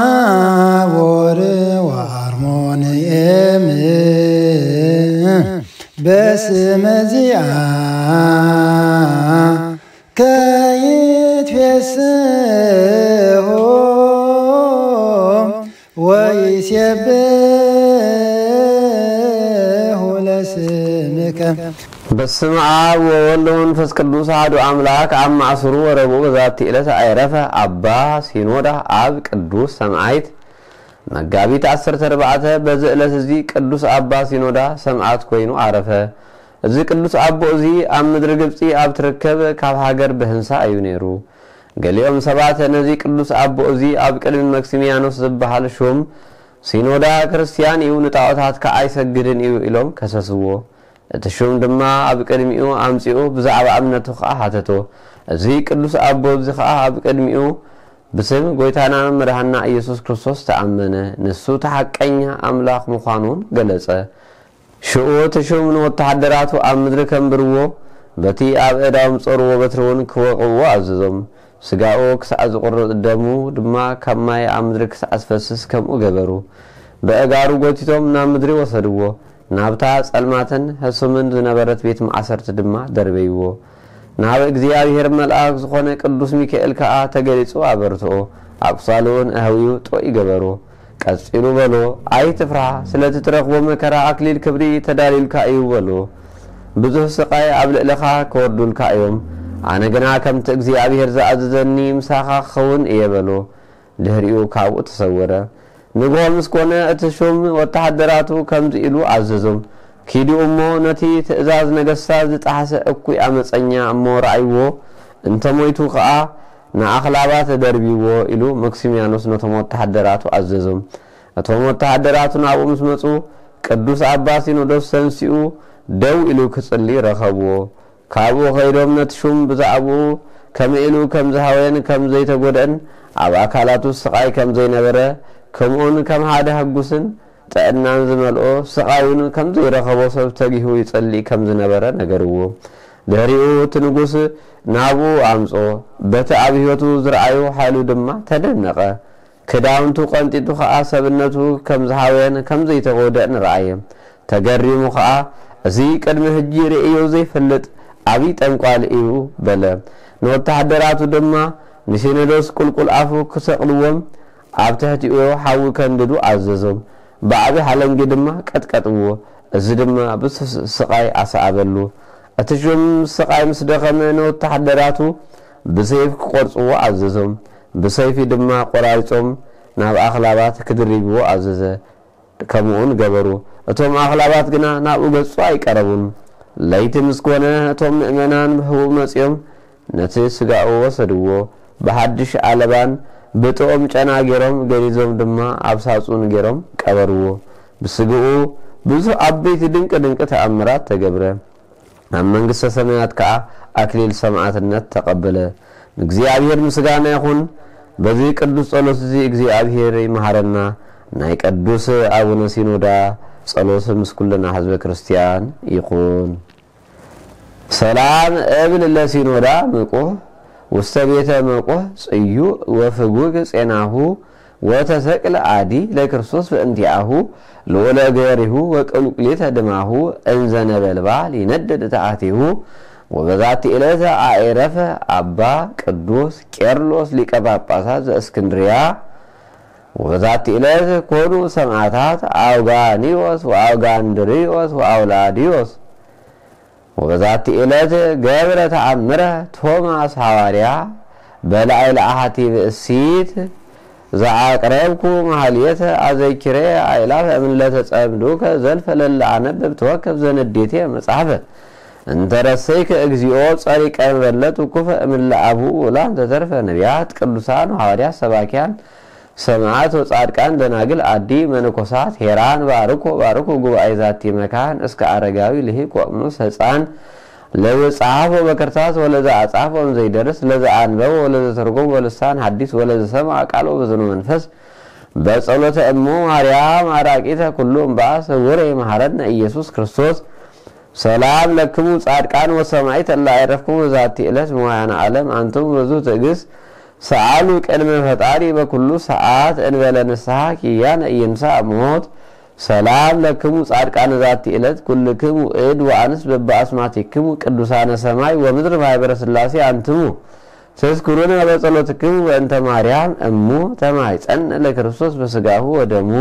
ታቦር ወአርሞንኤም በስመ ዚአ ከይትፌስሑ ወይሴብሑ ለስምከ። በስመ አብ ወወልድ ወመንፈስ ቅዱስ አሐዱ አምላክ። አብ ማእስሩ ወረቡዕ በዛቲ ዕለት አይረፈ አባ ሲኖዳ አብ ቅዱስ ሰማዕት መጋቢት ዓሰርተ ኣርባዕተ። በዚ ዕለት እዚ ቅዱስ አባ ሲኖዳ ሰማዕት ኮይኑ አረፈ። እዚ ቅዱስ አቦ እዚ ኣብ ምድሪ ግብጺ ኣብ ትርከብ ካብ ሃገር ብህንሳ እዩ ነይሩ። ገሊኦም ሰባት ነዚ ቅዱስ ኣቦ እዚ ኣብ ቅድሚ መክሲሚያኖስ ዝበሃል ሹም ሲኖዳ ክርስትያን እዩ፣ ንጣዖታት ከኣ ኣይሰግድን እዩ ኢሎም ከሰስዎ። እቲ ሹም ድማ ኣብ ቅድሚኡ ኣምጺኡ ብዛዕባ እምነቱ ከኣ ሓተቶ። እዚ ቅዱስ ኣቦ እዚ ከኣ ኣብ ቅድሚኡ ብስም ጎይታናን መድሓንና ኢየሱስ ክርስቶስ ተኣመነ። ንሱ እቲ ሓቀኛ ኣምላኽ ምዃኑን ገለጸ። ሽዑ እቲ ሹም ንወተሃደራቱ ኣብ ምድሪ ከንብርዎ፣ በቲ ኣብ ኣእዳዎም ዝጸርዎ በትሪ እውን ክወቕዕዎ ኣዘዞም። ስጋኡ ክሳዕ ዝቑረጽ፣ ደሙ ድማ ካብ ማይ ኣብ ምድሪ ክሳዕ ዝፈስስ ከምኡ ገበሩ። በእጋሩ ጎቲቶም ናብ ምድሪ ወሰድዎ። ናብታ ጸልማትን ሕሱምን ዝነበረት ቤት ማእሰርቲ ድማ ደርበይዎ። ናብ እግዚኣብሔር መልኣክ ዝኾነ ቅዱስ ሚካኤል ከኣ ተገሊጹ ኣበርትኦ። ኣቁሳሉን ኣህዊኡ ጥዑይ ገበሮ። ቀጺሉ በሎ፣ "ኣይትፍራ፣ ስለቲ ትረኽቦ መከራ ኣክሊል ክብሪ ተዳልዩልካ እዩ" በሎ። "ብዙሕ ስቓይ ኣብ ልዕለኻ ክወርዱልካ እዮም። ኣነ ግና ከምቲ እግዚኣብሔር ዝኣዘዘኒ ምሳኻ ክኸውን እየ" በሎ። ድሕሪኡ ካብኡ ተሰወረ። ንግሆ ምስ ኮነ፣ እቲ ሹም ወተሃደራቱ ከምዚ ኢሉ ኣዘዞም፣ "ኪዱ እሞ ነቲ ትእዛዝ ነገስታት ዝጠሓሰ እኩይ ኣመፀኛ እሞ ረኣይዎ፣ እንተ ሞይቱ ኸኣ ንኣኽላባት ደርብይዎ" ኢሉ መክሲምያኖስ ነቶም ወተሃደራቱ ኣዘዞም። እቶም ወተሃደራቱ ናብኡ ምስ መጹ፣ ቅዱስ ኣባ ሲኖዶስ ተንሲኡ ደው ኢሉ ክጽሊ ረኸብዎ። ካብኡ ኸይዶም ነቲ ሹም ብዛዕባኡ ከመይ ኢሉ ከም ዝሃወየን ከም ዘይተጎድአን፣ ኣብ ኣካላቱ ስቓይ ከም ዘይነበረ፣ ከምኡውን ከም ሓደ ሕጉስን ጥዕናን ዝመልኦ፣ ስቓይ እውን ከም ዘይረኸቦ ሰብ ተጊሁ ይጸልእ ከም ዝነበረ ነገርዎ። ድሕሪኡ እቲ ንጉስ ናብኡ ኣምጾ፣ በቲ ኣብ ህይወቱ ዝረኣዮ ሓይሉ ድማ ተደነቐ። ክዳውንቱ ቀንጢጡ ኸኣ ሰብነቱ ከም ዝሃወየን ከም ዘይተጎድአን ረኣየ። ተገሪሙ ኸኣ፣ "እዚ ቅድሚ ሕጂ ርእዮ ዘይፈልጥ ዓብዪ ጠንቋሊ እዩ" በለ። ንወተሃደራቱ ድማ ንሲኖዶስ ቁልቁል ኣፉ ክሰቕልዎም ኣብ ትሕቲኡ ሓዊ ከንድዱ ኣዘዞም። ብዓቢ ሓለንጊ ድማ ቀጥቀጥዎ። እዚ ድማ ብዙሕ ስቓይ ኣስዓበሉ። እቲ ሹም ስቓይ ምስ ደኸመ ንወተሃደራቱ ብሰይፍ ክቖርጽዎ ኣዘዞም። ብሰይፊ ድማ ቈራሪጾም ናብ ኣኽላባት ክድርብዎ ኣዘዘ። ከምኡውን ገበሩ። እቶም ኣኽላባት ግና ናብኡ ገጹ ኣይቀረቡን። ለይቲ ምስ ኮነ፣ እቶም ምእመናን ብሕቡእ መጺኦም ነቲ ስጋኡ ወሰድዎ። ብሓድሽ ኣለባን ብጥዑም ጨና ገይሮም ገኒዞም ድማ ኣብ ሳጹን ገይሮም ቀበርዎ። ብስግኡ ብዙሕ ዓበይቲ ድንቂ ድንቂ ተኣምራት ተገብረ። ኣብ መንግስተ ሰማያት ከኣ ኣክሊል ሰማዕትነት ተቐበለ። ንእግዚኣብሔር ምስጋና ይኹን። በዚ ቅዱስ ጸሎት እዚ እግዚኣብሔር ይመሃረና። ናይ ቅዱስ ኣቡነ ሲኖዳ ጸሎት ምስ ኩልና ህዝበ ክርስቲያን ይኹን። ሰላም እብል ለሲኖዳ ምቁህ ውስተ ቤተ መቁህ ጽዩእ ወፍጉግ ጼናሁ ወተሰቅለ አዲ ለክርስቶስ በእንቲአሁ ልዑለ ገሪሁ ወቅልቁሊተ ድማሁ እንዘ ነበልባል ይነድድ ተአቴሁ። ወበዛቲ ዕለት አኤረፈ አባ ቅዱስ ቄርሎስ ሊቀ ጳጳሳት ዘእስክንድርያ። ወበዛቲ ዕለት ኮኑ ሰማዕታት አውጋኒዮስ ወአውጋንድሪዮስ ወአውላዲዮስ። ወበዛቲ ዕለት ገብረ ተአምረ ቶማስ ሃዋርያ በላዕለ አሐቲ ብእሲት ዘአቅረብኩ ማህሌተ አዘኪሬ አእላፈ እምለተ ጸምዱከ ዘልፈ ለለ አነብብ ተወከፍ ዘንዴቴ መጽሐፈ እንተ ረሰይከ እግዚኦ ጸሪቀ መበለት ውኩፈ እምለ አቡ ውላን ተተርፈ ነቢያት ቅዱሳን ሃዋርያት ሰባኪያን ሰማዕት ወጻድቃን ደናግል አዲ መነኮሳት ሄራን ባርኮ ባርኮ ጉባኤ ዛቲ መካን እስከ አረጋዊ ልሂቅ ወቅኑስ ህፃን ለዘ ጸሐፎ በክርታስ ወለዘ አጻፎ ዘይደርስ ለዘ አንበቦ ወለዘ ተርጎም ወልሳን ሐዲስ ወለዘ ሰምዐ ቃሎ በዝነ መንፈስ በጸሎተ እሙ ማርያም አራቂተ ኩሉ እምበአስ ህቡረ ይመሐረነ ኢየሱስ ክርስቶስ። ሰላም ለክሙ ጻድቃን ወሰማዕት እለ አይረፍኩም በዛቲ ዕለት መዋያነ ዓለም አንትሙ ብዙ ትዕግስት ሰኣሉ ቅድመ ፈጣሪ በኩሉ ሰዓት እንበለ ንስሓ ኪያነ ኢይንሳእ ሞት። ሰላም ለክሙ ጻድቃነ ዛቲ ዕለት ኩልክሙ እድ ወኣንስት በበአስማቲክሙ ቅዱሳነ ሰማይ ወምድር ማህበረ ስላሴ አንትሙ። ትዝክሩነ በጸሎትክሙ በእንተ ማርያም እሙ ተማይጸን ለክርስቶስ በስጋሁ ወደሙ።